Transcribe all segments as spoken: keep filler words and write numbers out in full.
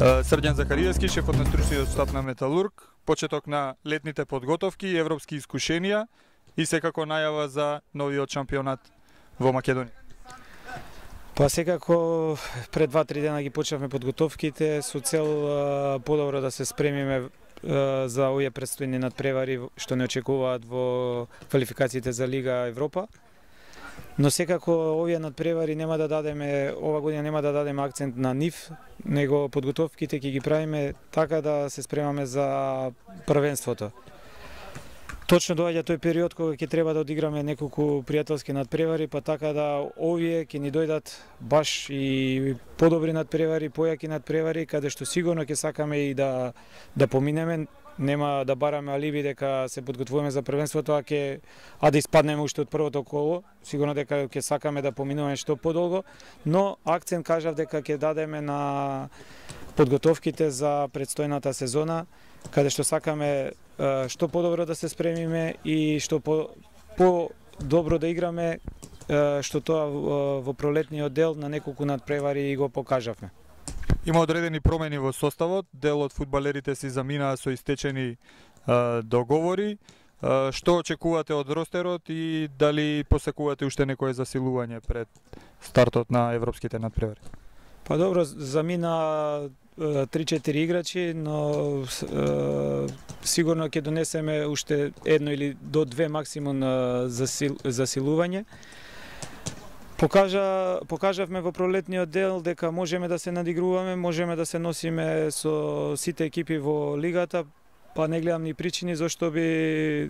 Срđan Захариевски, шефот на стручниот штаб на Металург, почеток на летните подготовки, европски искушенија и секако најава за новиот шампионат во Македонија. Па секако пред два-три дена ги почнавме подготовките со цел подобро да се спремиме за овие предстојни надпревари што не очекуваат во квалификациите за Лига Европа. Но секако овие надпревари нема да дадеме, ова година нема да дадеме акцент на нив, него подготовките ќе ги правиме така да се спремаме за првенството. Точно доаѓа тој период кога ќе треба да одиграме неколку пријателски надпревари, па така да овие ќе ни дојдат баш и подобри надпревари, појаки надпревари, каде што сигурно ќе сакаме и да да поминеме. Нема да бараме алиби дека се подготвуваме за првенството, а ќе а да испаднеме уште од првото коло. Сигурно дека ќе сакаме да поминуваме што подолго, но акцент кажав дека ќе дадеме на подготовките за предстојната сезона, каде што сакаме што подобро да се спремиме и што по, по добро да играме, што тоа во пролетниот дел на неколку надпревари го покажавме. Има одредени промени во составот, дел од фудбалерите си заминаа со истечени а, договори. А, што очекувате од ростерот и дали посекувате уште некое засилување пред стартот на европските надпревари? Па добро, замина три-четири играчи, но е, сигурно ќе донесеме уште едно или до две максимум засил, засилување. Покажа, покажавме во пролетниот дел дека можеме да се надигруваме, можеме да се носиме со сите екипи во лигата, па не гледам ни причини зашто би е,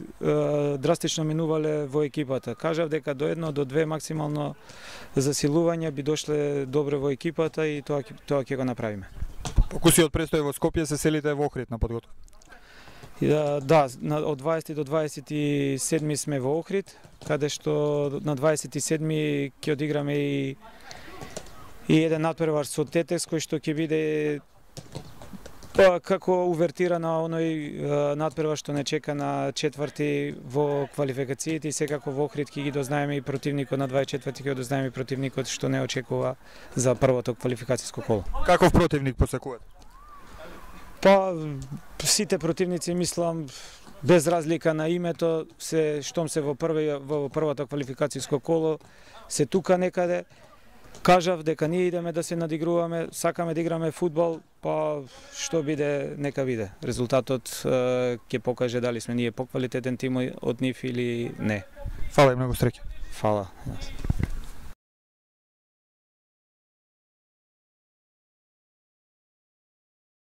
драстично минувале во екипата. Кажав дека до едно, до две максимално засилување би дошле добро во екипата и тоа, тоа ќе го направиме. Покусиот престој во Скопје, се селите во Охрид на подготовка? Да, да, од дваесети до дваесет и седми сме во Охрид, каде што на дваесет и седми ќе одиграме и, и еден надпревар со Тетекс, кој што ќе биде па, како увертира на оној надпревар што не чека на четврти во квалификациите и секако во Охрид ќе ги дознаеме и противникот на дваесет и четврти ќе дознаеме и противникот што не очекува за првото квалификацијско коло. Каков противник посекувате? Па сите противници, мислам, без разлика на името, се штом се во први во првото квалификацијско коло, се тука некаде. Кажав дека ние идеме да се надигруваме, сакаме да играме фудбал, па што биде, нека биде. Резултатот ќе покаже дали сме ние поквалитетен тим од нив или не. Фала и многу среќа. Фала.